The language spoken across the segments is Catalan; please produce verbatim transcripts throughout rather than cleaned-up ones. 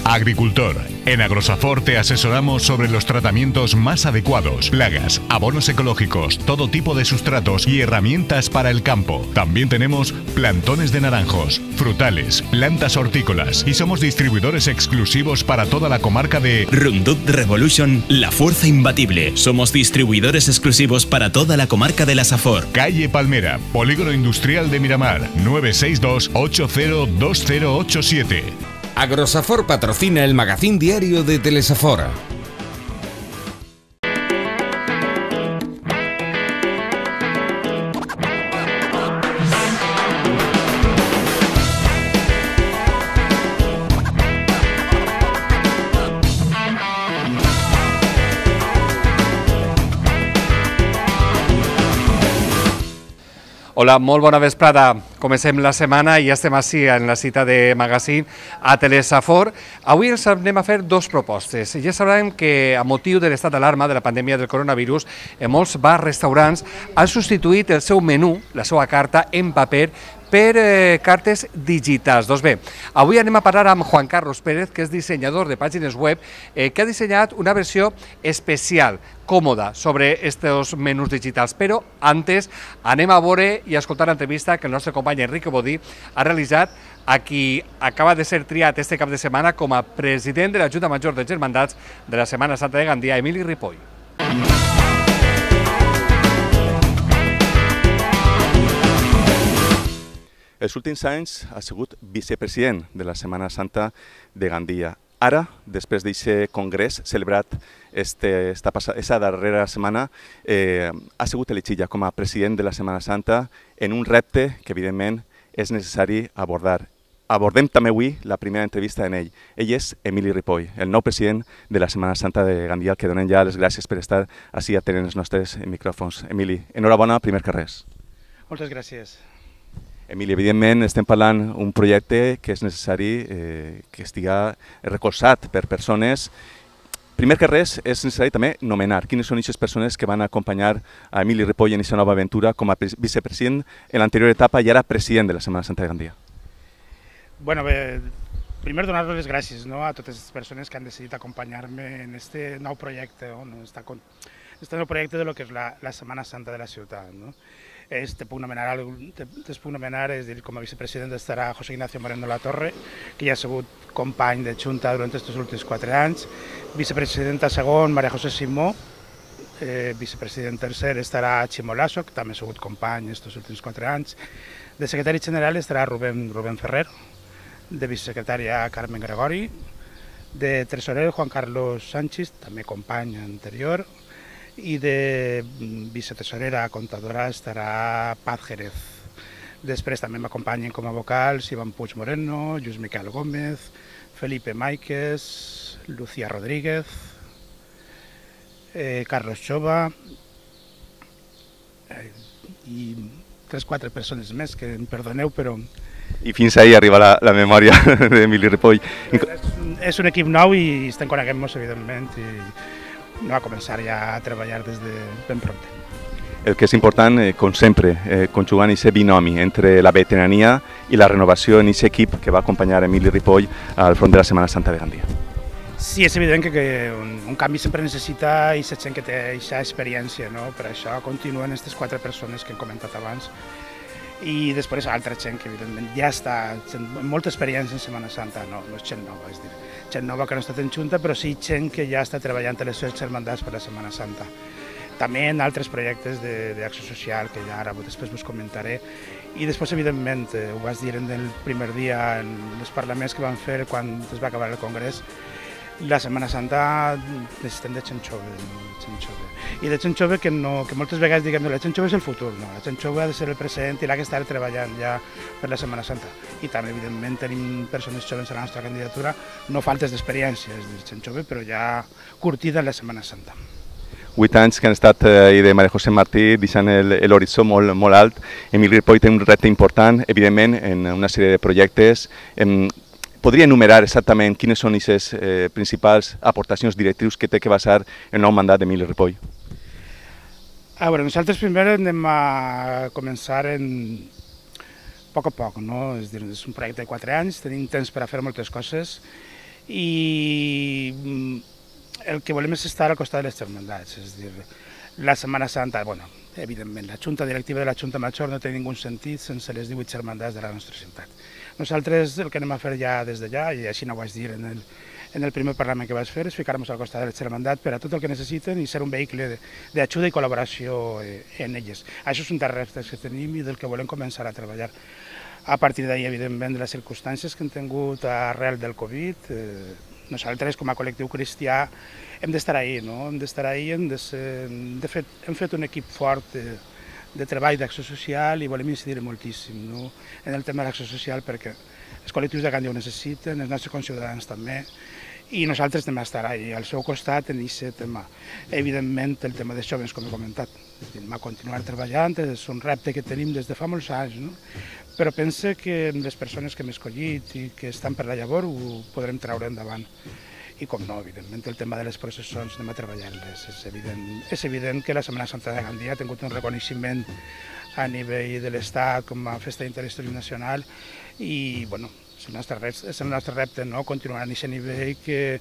Agricultor. En Agrosafor te asesoramos sobre los tratamientos más adecuados, plagas, abonos ecológicos, todo tipo de sustratos y herramientas para el campo. También tenemos plantones de naranjos, frutales, plantas hortícolas y somos distribuidores exclusivos para toda la comarca de Roundup Revolution, la fuerza imbatible. Somos distribuidores exclusivos para toda la comarca de la Safor. Calle Palmera, Polígono Industrial de Miramar, nueve seis dos, ocho cero dos cero ocho siete. Agrosafor patrocina el magazín diario de Telesafor. Hola, molt bona vesprada. Comencem la setmana i ja estem així en la cita de magazín a Telesafor. Avui ens anem a fer dos propostes. Ja sabrem que a motiu de l'estat d'alarma de la pandèmia del coronavirus, en molts bars, restaurants han substituït el seu menú, la seva carta, en paper per eh, cartes digitals. Doncs bé, avui anem a parlar amb Juan Carlos Pérez, que és dissenyador de pàgines web, eh, que ha dissenyat una versió especial, còmoda, sobre aquests menús digitals. Però antes anem a veure i a escoltar l'entrevista que el nostre company Enrique Bodí ha realitzat a qui acaba de ser triat este cap de setmana com a president de la Junta Major de Germandats de la Setmana Santa de Gandia, Emili Ripoll. Els últims anys ha sigut vicepresident de la Setmana Santa de Gandia. Ara, després d'aquest congrés celebrat este, esta esa darrera setmana, eh, ha sigut elegit ja com a president de la Setmana Santa en un repte que, evidentment, és necessari abordar. Abordem també avui la primera entrevista en ell. Ell és Emili Ripoll, el nou president de la Setmana Santa de Gandia, al que donem ja les gràcies per estar així atenent els nostres micròfons. Emili, enhorabona, primer que res. Moltes gràcies. Emili, evidentment estem parlant d'un projecte que és necessari eh, que estigui recolzat per persones. Primer que res, és necessari també nomenar quines són aquestes persones que van acompanyar a Emili Ripoll en aquesta nova aventura com a vicepresident en l'anterior etapa i ara president de la Setmana Santa de Gandia. Bueno, bé, primer donar les gràcies, no, a totes les persones que han decidit acompanyar-me en este nou projecte, no, este, este nou projecte de lo que és la, la Setmana Santa de la ciutat. No? Es, te puc nomenar, te, te puc nomenar és dir, com a vicepresident estarà José Ignacio Moreno La Torre, que ja ha sigut company de Junta durant aquests últims quatre anys, vicepresidenta segon, Maria José Simó, eh, vicepresident tercer estarà Ximo Lasso, que també ha sigut company aquests últims quatre anys, de secretari general estarà Rubén, Rubén Ferrer, de vicesecretària Carmen Gregori, de tresorer Juan Carlos Sánchez, també company anterior, i de vicetesorera comptadora estarà Paz Jerez. Després també m'acompanyen com a vocals Iván Puig Moreno, Lluís Miquel Gómez, Felipe Máiquez, Lucía Rodríguez, eh, Carlos Chova eh, i tres o quatre persones més que em perdoneu, però... I fins ahí arriba la, la memòria d'Emili Ripoll. És, és un equip nou i estem coneguent-nos, evidentment, i no va començar ja a treballar des de ben prompte. El que és important, eh, com sempre, eh, conjugant aquest binomi entre la veterania i la renovació en aquest equip que va acompanyar Emili Ripoll al front de la Setmana Santa de Gandia. Sí, és evident que, que un, un canvi sempre necessita aquesta gent que té aquesta experiència, no? Per això continuen aquestes quatre persones que hem comentat abans i després altra gent que evidentment ja està amb molta experiència en Setmana Santa, no, no és gent nova, és dir, gent nova que no ha estat en Junta, però sí gent que ja està treballant a les seves germandats per la Setmana Santa. També en altres projectes d'acció social, que ja ara després us comentaré. I després, evidentment, ho vas dir en el primer dia en els parlaments que van fer quan es va acabar el Congrés, la Setmana Santa necessitem de gent jove, gent jove. I de gent jove que, no, que moltes vegades diguem que la gent jove és el futur, no? La gent jove ha de ser el present i l'ha que estar treballant ja per la Setmana Santa. I també, evidentment, tenim persones joves a la nostra candidatura, no faltes d'experiència, és dir, gent jove, però ja curtida en la Setmana Santa. Vuit anys que han estat eh, de Maria José Martí deixant l'horitzó molt, molt alt. Emili Ripoll té un repte important, evidentment, en una sèrie de projectes. En, podria enumerar exactament quines són les eh, principals aportacions directrius que té que basar el nou mandat d'Emili Ripoll? A veure, nosaltres primer anem a començar en a poc a poc, no? És dir, és un projecte de quatre anys, tenim temps per a fer moltes coses i el que volem és estar al costat de les germandats, és a dir, la Setmana Santa, bueno, evidentment, la Junta Directiva de la Junta Major no té ningú sentit sense les divuit germandats de la nostra ciutat. Nosaltres el que anem a fer ja des d'allà, i així no ho vaig dir en el, en el primer Parlament que vaig fer, és ficar-nos al costat de les germandats per a tot el que necessiten i ser un vehicle d'ajuda i col·laboració en elles. Això és un dels reptes que tenim i del que volem començar a treballar. A partir d'ahir, evidentment, de les circumstàncies que hem tingut arrel del Covid, eh, nosaltres, com a col·lectiu cristià, hem d'estar ahí, no? Hem d'estar ahí, hem, de ser, de fet, hem fet un equip fort de, de treball d'acció social i volem incidir moltíssim, no? En el tema de l'acció social perquè els col·lectius de Gandia ho necessiten, els nostres conciutadans també, i nosaltres hem d'estar ahí, al seu costat en aquest tema. Evidentment, el tema dels joves, com he comentat, hem de continuar treballant, és un repte que tenim des de fa molts anys, no? Però pense que les persones que hem escollit i que estan per la llavor ho podrem treure endavant. I com no, evidentment, el tema de les processons anem a treballar-les. És evident, és evident que la Setmana Santa de Gandia ha tingut un reconeixement a nivell de l'Estat com a festa d'interès nacional i, bueno, és el nostre repte, és el nostre repte, no? Continuar a aquest nivell que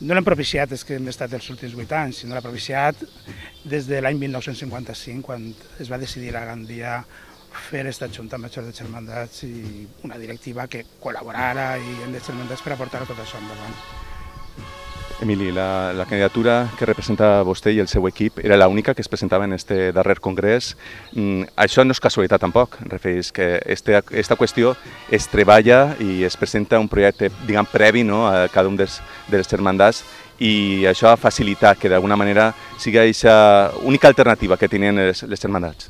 no l'hem propiciat és que hem estat els últims vuit anys, sinó l'ha propiciat des de l'any mil nou-cents cinquanta-cinc, quan es va decidir a Gandia fer aquesta Junta Major de Germandats i una directiva que col·laborara i en les germandats per aportar tot això endavant. Emili, la, la candidatura que representa vostè i el seu equip era l'única que es presentava en aquest darrer congrés. Mm, això no és casualitat tampoc, refereix que aquesta este, qüestió es treballa i es presenta un projecte, diguem, previ, no, a cada un dels, de les germandats i això ha facilitat que d'alguna manera sigui aquesta única alternativa que tenien les, les germandats.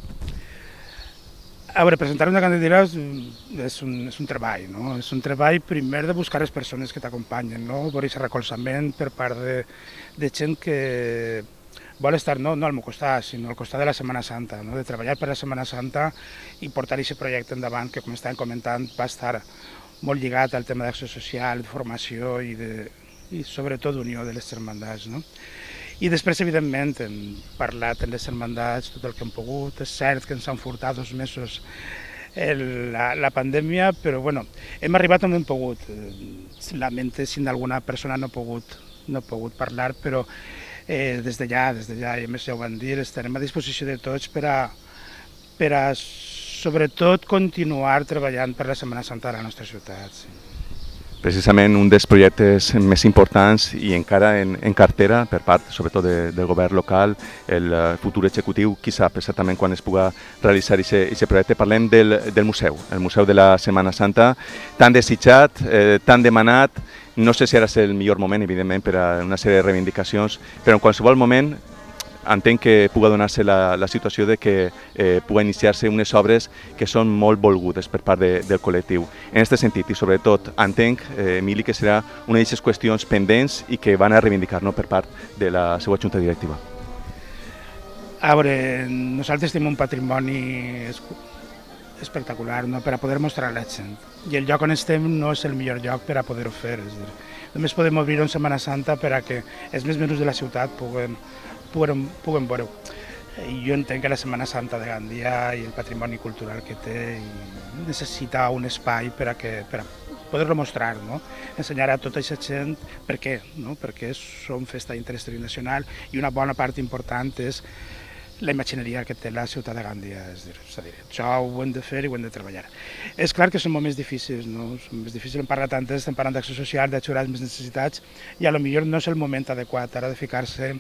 A veure, presentar una candidatura és un, és un treball, no? És un treball primer de buscar les persones que t'acompanyen, no? Per aquest recolzament per part de, de gent que vol estar no, no al meu costat, sinó al costat de la Setmana Santa, no? De treballar per la Setmana Santa i portar aquest projecte endavant que, com estàvem comentant, va estar molt lligat al tema d'acció social, de formació i, de, i sobretot d'unió de les germandats, no? I després, evidentment, hem parlat amb les germandats tot el que hem pogut. És cert que ens han furtat dos mesos el, la, la pandèmia, però bueno, hem arribat on hem pogut. Lamento si alguna persona no ha pogut, no ha pogut parlar, però eh, des d'allà, des d'allà, i a més ja ho van dir, estarem a disposició de tots per a, per a sobretot continuar treballant per la Setmana Santa de la nostra ciutat. Sí. Precisament un dels projectes més importants i encara en, en cartera per part, sobretot de, del govern local, el futur executiu, qui sap exactament quan es puga realitzar aquest projecte. Parlem del, del museu, el Museu de la Setmana Santa, tan desitjat, eh, tan demanat. No sé si ara és el millor moment, evidentment, per a una sèrie de reivindicacions, però en qualsevol moment entenc que puga donar-se la, la situació de que eh, puga iniciar-se unes obres que són molt volgudes per part de, del col·lectiu. En aquest sentit, i sobretot, entenc, eh, Emili, que serà una d'aquestes qüestions pendents i que van a reivindicar, no, per part de la seva junta directiva. A veure, nosaltres tenim un patrimoni espectacular, no?, per a poder mostrar a la gent. I el lloc on estem no és el millor lloc per a poder-ho fer. És dir, només podem obrir en Setmana Santa per a que els més menús de la ciutat puguen Puguem, puguem veure-ho. Jo entenc que la Setmana Santa de Gandia i el patrimoni cultural que té necessita un espai per a, que, per a poder-lo mostrar, no? Ensenyar a tota aquesta gent per què, no? Perquè som festa d'interès nacional i una bona part important és la imagineria que té la ciutat de Gandia. És dir, és a dir, això ho hem de fer i ho hem de treballar. És clar que són moments difícils, no? Són moments difícils, hem parlat antes, estem parlant d'acció social, d'ajudar les més necessitats i potser no és el moment adequat ara de ficar-se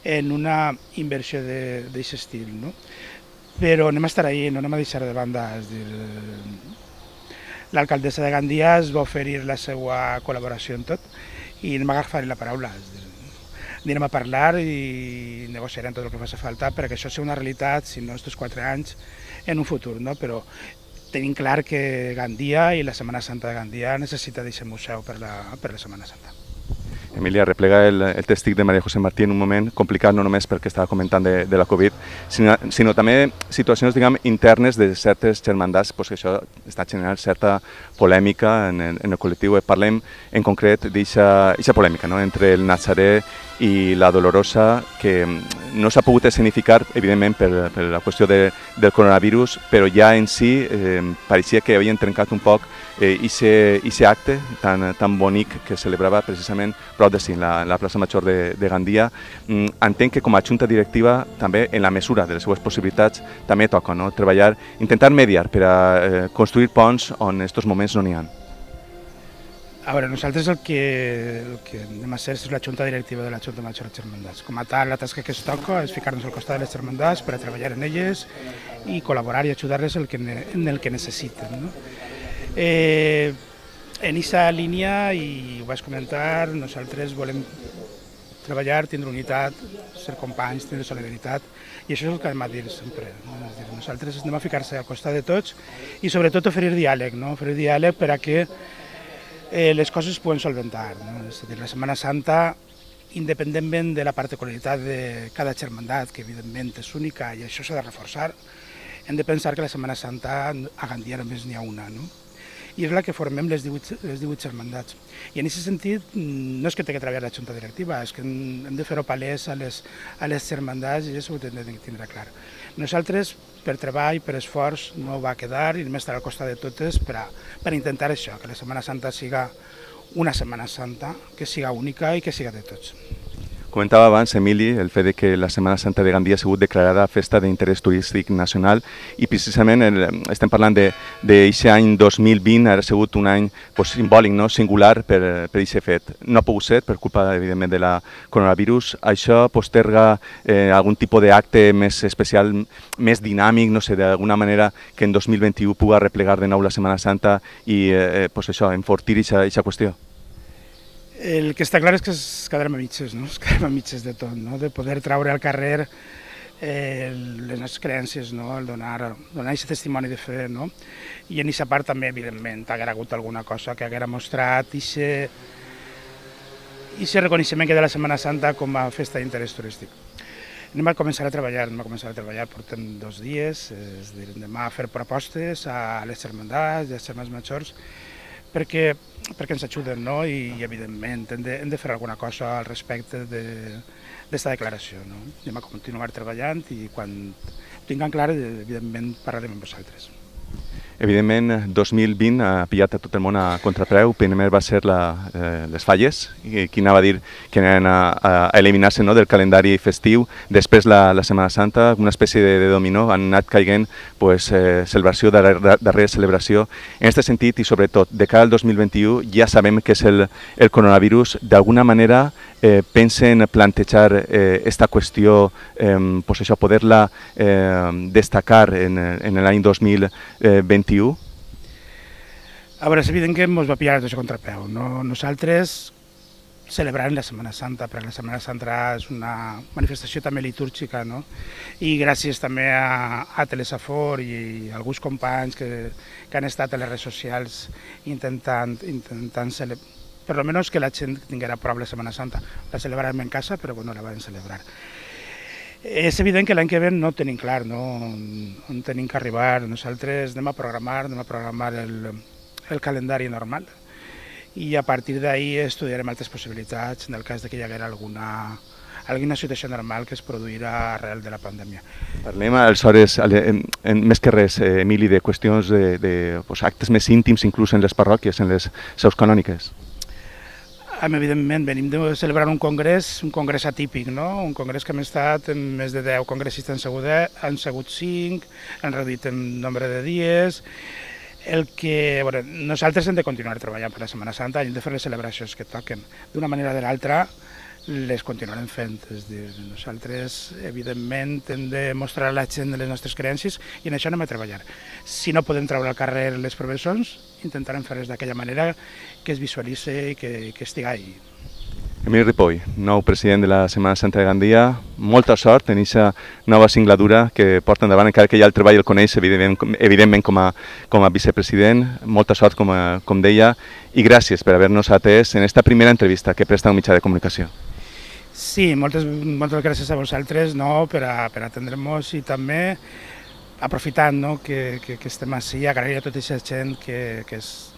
en una inversió d'aquest estil, no? Però anem a estar ahí, no anem a deixar de banda. És dir, l'alcaldessa de Gandia es va oferir la seva col·laboració en tot i anem a agafar la paraula. És dir, anirem a parlar i negociarem tot el que faci falta perquè això sigui una realitat, si no estos quatre anys, en un futur, no? Però tenim clar que Gandia i la Setmana Santa de Gandia necessita d'aquest museu per la, per la Setmana Santa. Emilia, replega el, el testic de Maria José Martí en un moment complicat, no només perquè estava comentant de, de la Covid, sinó, sinó també situacions, diguem, internes de certes germandats, pues, que això està generant certa polèmica en el, en el col·lectiu. Parlem en concret d'aquesta polèmica, no?, entre el Nazaré i la Dolorosa, que no s'ha pogut escenificar, evidentment, per, per la qüestió de, del coronavirus, però ja en si eh, pareixia que havien trencat un poc aquest eh, acte tan, tan bonic que celebrava precisament prop de Sin, la, la plaça Major de, de Gandia. Mm, entenc que com a junta directiva, també en la mesura de les seues possibilitats, també toca, no? Treballar, intentar mediar per a eh, construir ponts on en aquests moments no n'hi ha. A veure, nosaltres el que, el que anem a ser és la junta directiva de la Junta Major de Germandats. Com a tal, la tasca que es toca és ficar-nos al costat de les germandats per a treballar en elles i col·laborar i ajudar-les en el que, en el que necessiten. No? Eh, en aquesta línia, i ho vaig comentar, nosaltres volem treballar, tindre unitat, ser companys, tindre solidaritat, i això és el que hem de dir sempre. No? És dir, nosaltres anem a ficar-se al costat de tots i sobretot oferir diàleg, no? Oferir diàleg per a que Eh, les coses es poden solventar. No? És a dir, la Setmana Santa, independentment de la particularitat de cada germandat, que evidentment és única i això s'ha de reforçar, hem de pensar que la Setmana Santa a Gandia només n'hi ha una, no? I és la que formem les divuit, les divuit germandats. I en aquest sentit no és que tingui que treballar la junta directiva, és que hem de fer-ho palès a les, a les germandats i això ho hem de tindre clar. Nosaltres, per treball, per esforç, no va quedar i hem d'estar al costat de totes per, a, per intentar això, que la Setmana Santa siga una Setmana Santa, que siga única i que siga de tots. Comentava abans, Emili, el fet que la Setmana Santa de Gandia ha sigut declarada festa d'interès turístic nacional i precisament el, estem parlant d'aquest any dos mil vint, ha sigut un any pues, simbòlic, no? Singular per aquest fet. No ha pogut ser per culpa, evidentment, de la coronavirus. Això posterga eh, algun tipus d'acte més especial, més dinàmic, no sé, d'alguna manera que en dos mil vint-i-u pugui replegar de nou la Setmana Santa i eh, pues això, enfortir aquesta qüestió. El que està clar és que es quedarem a mitges, no? Es quedarem a mitges de tot, no? De poder traure al carrer eh, les nostres creences, no? El donar, donar aquest testimoni de fe, no? I en aquesta part també, evidentment, haguera hagut alguna cosa que haguera mostrat aquest reconeixement que de la Setmana Santa com a festa d'interès turístic. Anem a començar a treballar, anem a començar a treballar, portem dos dies, és a dir, anem a fer propostes a les germandats i als germans majors perquè, perquè ens ajuden, no? I, i evidentment hem de, hem de fer alguna cosa al respecte d'aquesta de, declaració, no? Anem a continuar treballant i quan tinguem clar, evidentment, parlarem amb vosaltres. Evidentment, dos mil vint ha pillat a tot el món a contrapreu. Primer va ser la, eh, les falles, que anava a dir que anaven a, a eliminar-se, no, del calendari festiu. Després la, la Setmana Santa, una espècie de, de dominó, han anat caiguent pues, eh, celebració darrere, darrere celebració. En aquest sentit, i sobretot, de cara al dos mil vint-i-u, ja sabem que és el, el coronavirus. D'alguna manera eh, pensen plantejar eh, esta qüestió, eh, pues això, poder-la eh, destacar en, en l'any dos mil vint-i-u. A veure, és evident que ens va pillar tot això contrapeu. No? Nosaltres celebrant la Setmana Santa, perquè la Setmana Santa és una manifestació també litúrgica, no? I gràcies també a, a Telesafor i a alguns companys que, que han estat a les redes socials intentant, intentant celebrar, per almenys que la gent tinguera prou la Setmana Santa. La celebrarem en casa, però bueno, la vam celebrar. És evident que l'any que ve no tenim clar, no? On tenim que arribar. Nosaltres anem a programar, anem a programar el, el calendari normal i a partir d'ahir estudiarem altres possibilitats en el cas de que hi haguera alguna, alguna situació normal que es produirà arrel de la pandèmia. Parlem aleshores, en, en, més que res, eh, Emili, de qüestions de, de pues, actes més íntims, inclús en les parròquies, en les seus canòniques. Evidentment, venim de celebrar un congrés, un congrés atípic, no? Un congrés que hem estat en més de deu congressistes, han sigut, han sigut cinc, han reduït en nombre de dies. El que, bueno, nosaltres hem de continuar treballant per la Setmana Santa i hem de fer les celebracions que toquen. D'una manera o de l'altra les continuarem fent. És dir, nosaltres, evidentment, hem de mostrar a la gent les nostres creences i en això anem a treballar. Si no podem treure al carrer les professors, intentarem fer-les d'aquella manera que es visualitzi i que, que estigui ahí. Emili Ripoll, nou president de la Setmana Santa de Gandia, molta sort en aquesta nova singladura que porta endavant, encara que ja el treball el coneix, evidentment, evidentment com, a, com a vicepresident. Molta sort, com, a, com deia, i gràcies per haver-nos atès en aquesta primera entrevista que presta un mitjà de comunicació. Sí, moltes, moltes gràcies a vosaltres, no, per, a, per atendre-nos i també aprofitant, no, que, que, que estem així, agrair a tota aquesta gent que, que, és,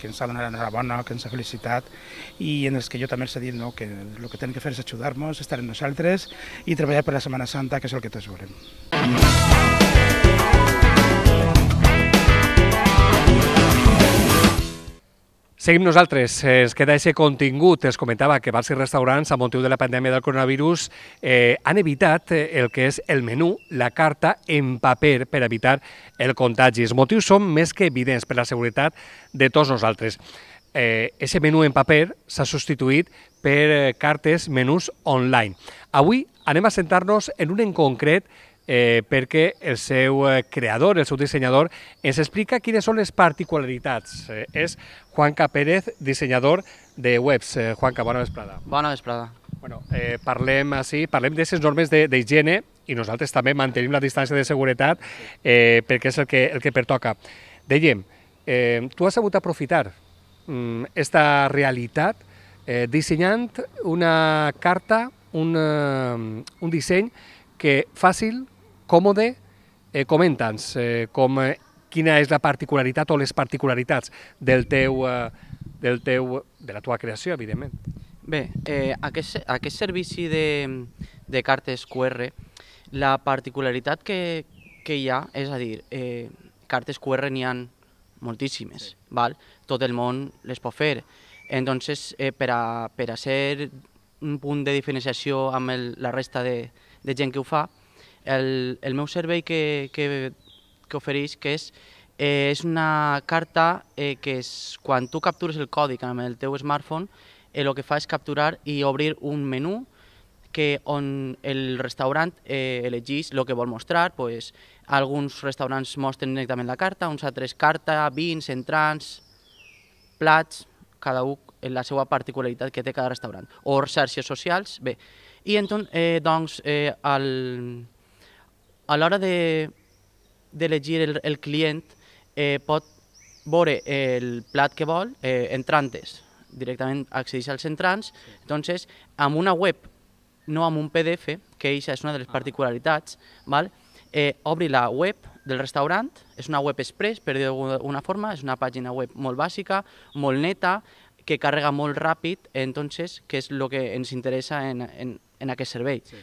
que ens ha donat l'enhorabona, que ens ha felicitat i en els que jo també els he dit que el que tenen que fer és ajudar-nos, estar amb nosaltres i treballar per la Setmana Santa, que és el que tots volem. Seguim nosaltres, es queda aquest contingut, es comentava que bars i restaurants a motiu de la pandèmia del coronavirus eh, han evitat el que és el menú, la carta en paper per evitar el contagi. Els motius són més que evidents per la seguretat de tots nosaltres. Eh, ese menú en paper s'ha substituït per eh, cartes, menús online. Avui anem a centrar-nos en un en concret Eh, perquè el seu eh, creador, el seu dissenyador, ens explica quines són les particularitats. Eh, és Juanca Pérez, dissenyador de webs. Eh, Juanca, bona vesprada. Bona vesprada. Bueno, eh, parlem així, parlem d'aquestes normes d'higiene i nosaltres també mantenim la distància de seguretat eh, perquè és el que, el que pertoca. Dèiem, eh, tu has sabut aprofitar aquesta mm, realitat eh, dissenyant una carta, un, uh, un disseny que fàcil, còmode, eh, comenta'ns eh, com, eh, quina és la particularitat o les particularitats del teu, eh, del teu, de la teva creació, evidentment. Bé, eh, aquest, aquest servici de, de cartes Q R, la particularitat que, que hi ha, és a dir, eh, cartes Q R n'hi ha moltíssimes, sí. Val? Tot el món les pot fer. Entonces, eh, per, a, per a ser un punt de diferenciació amb el, la resta de, de gent que ho fa, el, el meu servei que, que, que ofereix que és, eh, és una carta eh, que és, quan tu captures el codi amb el teu smartphone, eh, el que fa és capturar i obrir un menú que on el restaurant eh, elegeix el que vol mostrar. Pues, alguns restaurants mostren directament la carta, uns altres carta, vins, entrants, plats, cada un la seva particularitat que té cada restaurant. O xarxes socials, bé. I entonces, eh, doncs, eh, al, a l'hora d'elegir de, el, el client eh, pot veure el plat que vol, eh, entrantes, directament accedeix als entrants, entonces, amb una web, no amb un P D F, que aquesta és una de les particularitats, val? Eh, obri la web del restaurant, és una web express, per dir-ho d'alguna forma, és una pàgina web molt bàsica, molt neta, que carrega molt ràpid, entonces, que és el que ens interessa en, en, en aquest servei. Sí.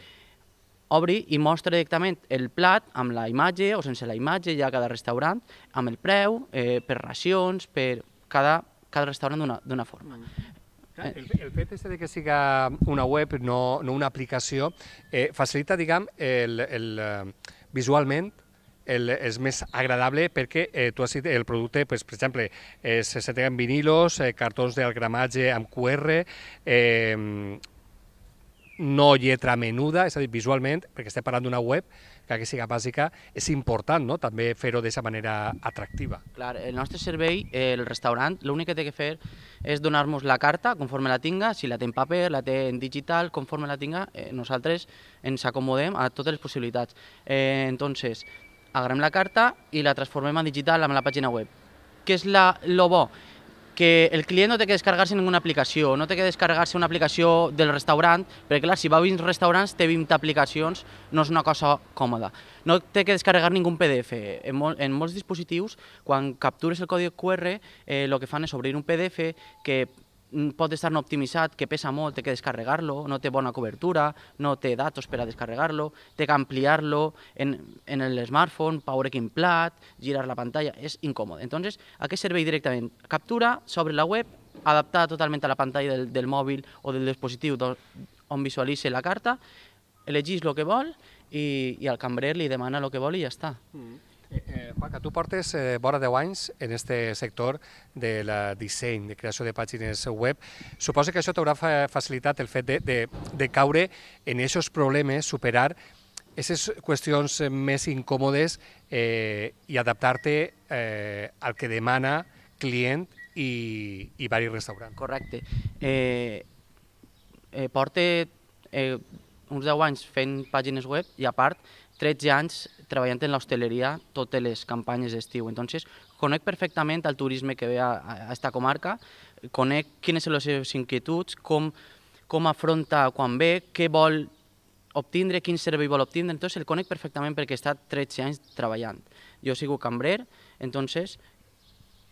Obri i mostra directament el plat amb la imatge o sense la imatge, ja cada restaurant, amb el preu, eh, per racions, per cada, cada restaurant d'una forma. Mm. El, el fet de que siga una web, no, no una aplicació, eh, facilita, diguem, el, el, uh, visualment, El, és més agradable perquè eh, tu has dit el producte, pues, per exemple, eh, se tenen vinilos, eh, cartons del gramatge amb Q R, eh, no lletra menuda, és a dir, visualment, perquè estem parlant d'una web que siga bàsica, és important, no?, també fer-ho d'aquesta manera atractiva. Clar, el nostre servei, el restaurant, l'únic que té que fer és donar-nos la carta conforme la tinga, si la té en paper, la té en digital, conforme la tinga, eh, nosaltres ens acomodem a totes les possibilitats. Eh, entonces, agarrem la carta i la transformem en digital amb la pàgina web. Què és la, lo bo? Que el client no té que descarregar-se ninguna aplicació, no té que descarregar-se una aplicació del restaurant, perquè clar, si va a vint restaurants té vint aplicacions, no és una cosa còmoda. No té que descarregar ningú P D F. En, mol, en molts dispositius, quan captures el codi Q R, el eh, que fan és obrir un P D F que pot estar no optimitzat, que pesa molt, té que descarregar-lo, no té bona cobertura, no té datos per a descarregar-lo, té que ampliar-lo en, en el smartphone, veure quin plat, girar la pantalla, és incòmode. Entonces, aquest servei directament captura, s'obre la web, adaptada totalment a la pantalla del, del mòbil o del dispositiu on visualitza la carta, elegeix el que vol i, i al cambrer li demana el que vol i ja està. Mm. Eh, Juanca, tu portes eh, vora deu anys en aquest sector de la disseny, de creació de pàgines web. Suposo que això t'haurà facilitat el fet de, de, de caure en aquests problemes, superar aquestes qüestions més incòmodes eh, i adaptar-te eh, al que demana client i, i vari restaurant. Correcte. Eh, eh, porte eh, uns deu anys fent pàgines web i a part tretze anys treballant en l'hostaleria totes les campanyes d'estiu. Entonces, conec perfectament el turisme que ve a, a esta comarca, conec quines són les seves inquietuds, com, com afronta quan ve, què vol obtindre, quin servei vol obtindre. Entonces, el conec perfectament perquè he estat tretze anys treballant. Jo he sigut cambrer, entonces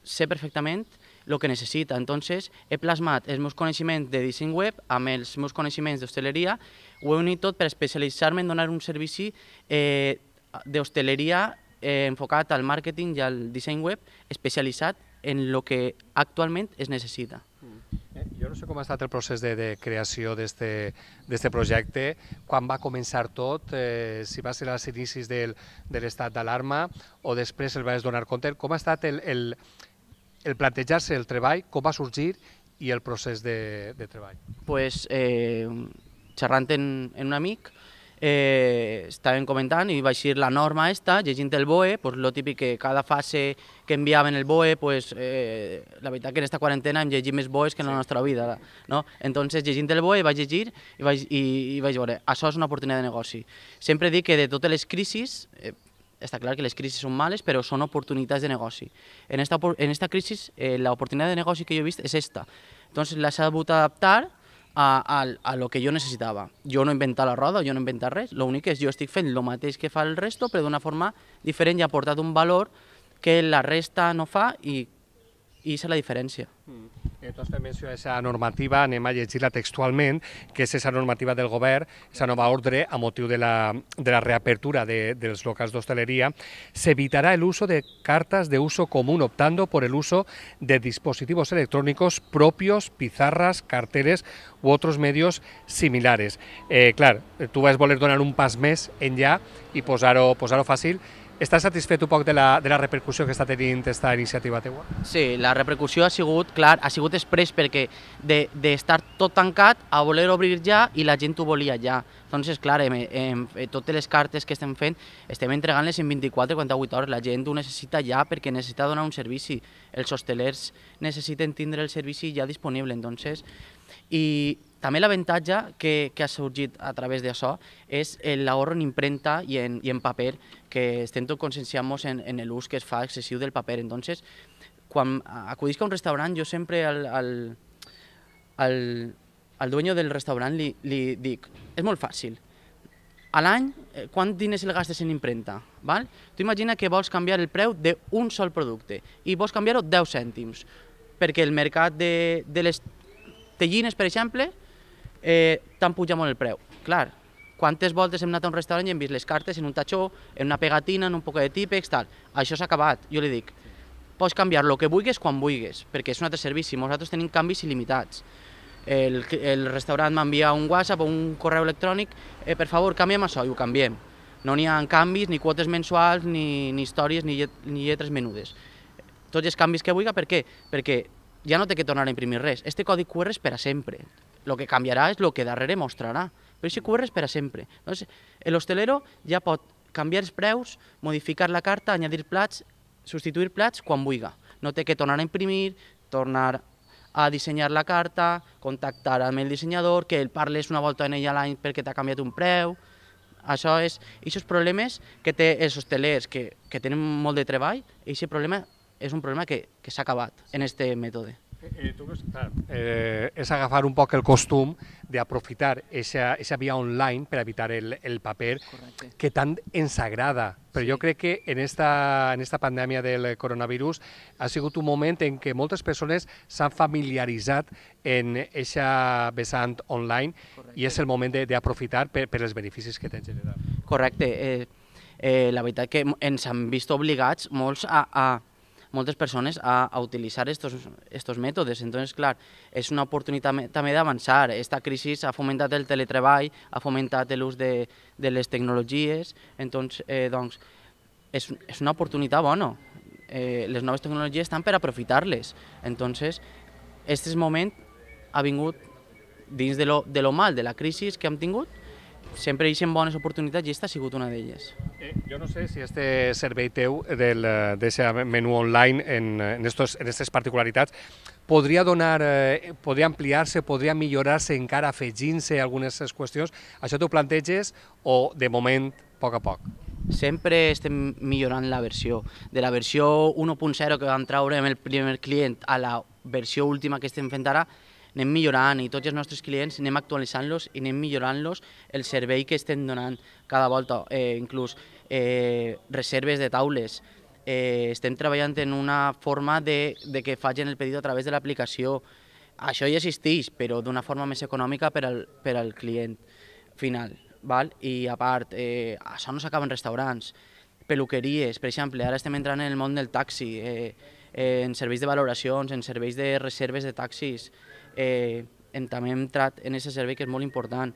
sé perfectament el que necessita. Entonces, he plasmat els meus coneixements de disseny web amb els meus coneixements d'hostaleria, ho he unit tot per especialitzar-me en donar un servici eh, d'hostaleria eh, enfocat al màrqueting i al disseny web, especialitzat en el que actualment es necessita. Jo no sé com ha estat el procés de, de creació d'aquest projecte, quan va començar tot, eh, si va ser als inicis del, de l'estat d'alarma o després el vas donar compte, com ha estat el, el, el plantejar-se el treball, com va sorgir i el procés de, de treball? Pues, eh, xerrant en, en un amic, eh, estàvem comentant i va eixir la norma esta, llegint el B O E, pues, lo típic que cada fase que enviaven el B O E, pues, eh, la veritat que en esta quarantena hem llegit més B O Es que en la nostra vida, no? Entonces, llegint el B O E vaig llegir i vaig, i, i vaig veure, això és una oportunitat de negoci. Sempre dic que de totes les crisis, eh, està clar que les crisis són males, però són oportunitats de negoci. En esta, en esta crisis, eh, l'oportunitat de negoci que jo he vist és esta. Entonces, la s'ha sabut adaptar a, a, a lo que jo necessitava. Jo no he inventat la roda, jo no he inventat res, l'únic és jo estic fent el mateix que fa el resto, però d'una forma diferent i ha aportat un valor que la resta no fa i i és la diferència. Mm. Entonces, també menciono aquesta normativa, anem a llegir-la textualment, que és aquesta normativa del govern, aquesta nova ordre a motiu de la, de la reapertura de, dels locals d'hostalería. Se evitará el uso de cartas de uso común, optando por el uso de dispositivos electrónicos propios, pizarras, carteles u otros medios similares. Eh, clar, tu vas voler donar un pas més enllà i posar-ho posar-ho fàcil. Estàs satisfet un poc de la, de la repercussió que està tenint aquesta iniciativa teua? Sí, la repercussió ha sigut, clar, ha sigut express perquè d'estar de, tot tancat a voler obrir ja i la gent ho volia ja. Entonces, clar, en, en, en totes les cartes que estem fent estem entregant-les en vint-i-quatre a quaranta-vuit hores. La gent ho necessita ja perquè necessita donar un servici. Els hostelers necessiten tindre el servici ja disponible. Entonces, i també l'avantatge que, que ha sorgit a través d'això és l'ahorro en impremta i en, i en paper, que estem tot conscienciant-nos en, en l'ús que es fa excessiu del paper. Entonces, quan acudisc a un restaurant, jo sempre al, al, al, al dueño del restaurant li, li dic, és molt fàcil, a l'any, quants diners el gastes en impremta? Val? Tu imagina que vols canviar el preu d'un sol producte i vols canviar-ho deu cèntims, perquè el mercat de, de les tellines, per exemple, eh, t'han pujat molt el preu. Clar, quantes voltes hem anat a un restaurant i hem vist les cartes en un tachó, en una pegatina, en un poc de típex, tal. Això s'ha acabat. Jo li dic, pots canviar el que vulguis quan vulguis, perquè és un altre servici. Nosaltres tenim canvis il·limitats. El, el restaurant m'envia un WhatsApp o un correu electrònic, eh, per favor, canviem això, i ho canviem. No n'hi ha canvis, ni quotes mensuals, ni, ni històries, ni, llet, ni lletres menudes. Tots els canvis que vulgui, per què? Perquè ja no té que tornar a imprimir res. Este codi Q R és per a sempre. El que canviarà és el que darrere mostrarà. Però aquest Q R és per a sempre. L'hostelero ja pot canviar els preus, modificar la carta, añadir plats, substituir plats quan vulgui. No té que tornar a imprimir, tornar a dissenyar la carta, contactar amb el dissenyador, que el parles una volta en ell a l'any perquè t'ha canviat un preu. Això és, aquests problemes que té els hostelers que, que tenen molt de treball, aquest problema és un problema que, que s'ha acabat en aquest mètode. Eh, tu, clar, eh, és agafar un poc el costum d'aprofitar aquesta via online per evitar el, el paper. Correcte. Que tant ens agrada. Però sí. Jo crec que en esta, en esta pandèmia del coronavirus ha sigut un moment en què moltes persones s'han familiaritzat en aquesta vessant online. Correcte. I és el moment d'aprofitar per, per els beneficis que té generat. Correcte. Eh, eh, la veritat que ens han vist obligats molts a, a moltes persones a, a utilitzar estos, estos mètodes. Entonces, clar, és una oportunitat també d'avançar. Esta crisi ha fomentat el teletreball, ha fomentat l'ús de, de les tecnologies, entonces, eh, doncs, és, és una oportunitat bona. Eh, les noves tecnologies estan per aprofitar-les. Entonces, aquest moment ha vingut dins de lo, de lo mal, de la crisi que hem tingut, sempre hi ha bones oportunitats i aquesta ha sigut una d'elles. Eh, jo no sé si este servei teu d'aquest menú online en, en, estos, en aquestes particularitats podria donar, eh, podria ampliar-se, podria millorar-se encara afegint-se algunes qüestions. Això t'ho planteges o de moment a poc a poc? Sempre estem millorant la versió. De la versió u punt zero que vam treure amb el primer client a la versió última que estem fent ara, anem millorant i tots els nostres clients anem actualitzant-los i anem millorant-los el servei que estem donant cada volta, eh, inclús eh, reserves de taules. eh, estem treballant en una forma de, de que facin el pedido a través de l'aplicació. Això ja existeix, però d'una forma més econòmica per al, per al client final. Val? I a part, eh, això no s'acaba en restaurants, peluqueries, per exemple, ara estem entrant en el món del taxi, eh, eh, en serveis de valoracions, en serveis de reserves de taxis, eh, en, també hem entrat en aquest servei que és molt important,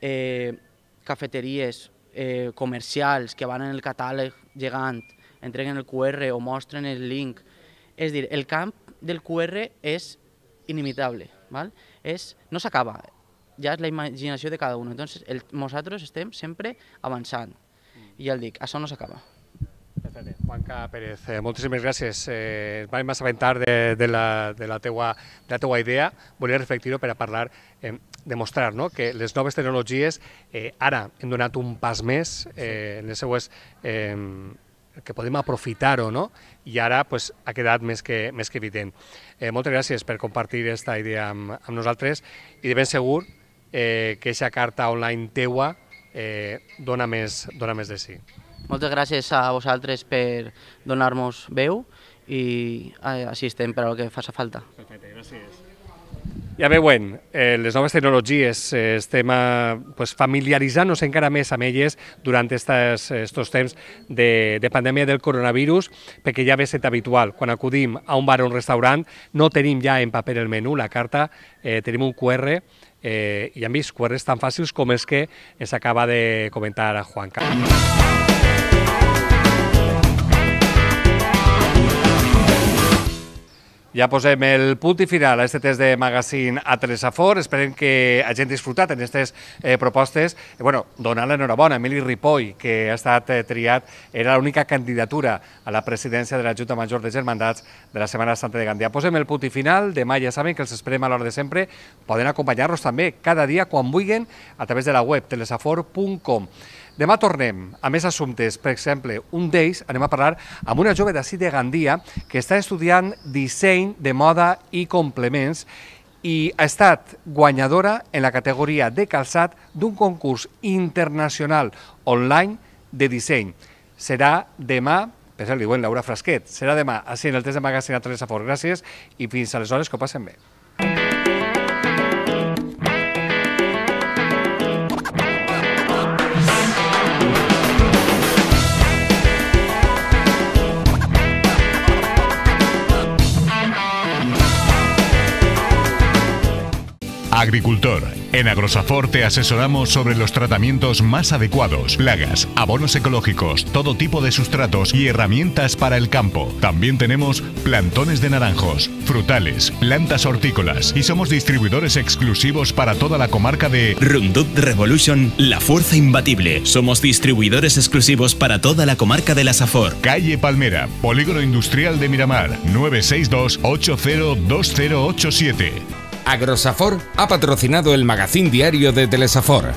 eh, cafeteries, eh, comercials que van en el catàleg gegant, entreguen el Q R o mostren el link. És a dir, el camp del Q R és inimitable, val? És, no s'acaba, ja és la imaginació de cada un. Entonces, el, nosaltres estem sempre avançant. I ja el dic, això no s'acaba. Perfecte. Juanca Pérez, eh, moltíssimes gràcies. Eh, vam assabentar de, de, la, de, la teua, de la teua idea. Volia reflectir-ho per a parlar, eh, demostrar, no?, que les noves tecnologies eh, ara hem donat un pas més eh, en les seues... Eh, que podem aprofitar-ho, no? I ara pues, ha quedat més que, més que evident. Eh, moltes gràcies per compartir aquesta idea amb, amb nosaltres i de ben segur eh, que aquesta carta online teua eh, dona, més, dona més de sí. Moltes gràcies a vosaltres per donar-nos veu i eh, així estem per al que faci falta. Perfecte, gràcies. Ja veuen, eh, les noves tecnologies eh, estem eh, pues, familiaritzant-nos encara més amb elles durant aquests temps de, de pandèmia del coronavirus, perquè ja ve set habitual. Quan acudim a un bar o un restaurant no tenim ja en paper el menú, la carta, eh, tenim un Q R eh, i han vist Q Rs tan fàcils com els que ens acaba de comentar Juanca. Ja posem el punt i final a aquest test de magazine a Telesafor. Esperem que hagin disfrutat en aquestes eh, propostes. Eh, bueno, donar l'enhorabona a Emili Ripoll, que ha estat eh, triat, era l'única candidatura a la presidència de la Junta Major de Germandats de la Setmana Santa de Gandia. Posem el punt i final. Demà ja saben que els esperem a l'hora de sempre. Poden acompanyar-nos també cada dia quan vulguin a través de la web telesafor punt com. Demà tornem a més assumptes, per exemple, un d'ells anem a parlar amb una jove d'ací de Gandia que està estudiant disseny de moda i complements i ha estat guanyadora en la categoria de calçat d'un concurs internacional online de disseny. Serà demà, per això li diuen Laura Frasquet, serà demà així en el test de magazine a Telesafor. Gràcies i fins aleshores que ho passen bé. Agricultor. En Agrosafor te asesoramos sobre los tratamientos más adecuados, plagas, abonos ecológicos, todo tipo de sustratos y herramientas para el campo. También tenemos plantones de naranjos, frutales, plantas hortícolas y somos distribuidores exclusivos para toda la comarca de Roundup Revolution, la fuerza imbatible. Somos distribuidores exclusivos para toda la comarca de la Safor. Calle Palmera, Polígono Industrial de Miramar, nueve seis dos, ocho cero dos cero ocho siete. Agrosafor ha patrocinado el magazín diario de Telesafor.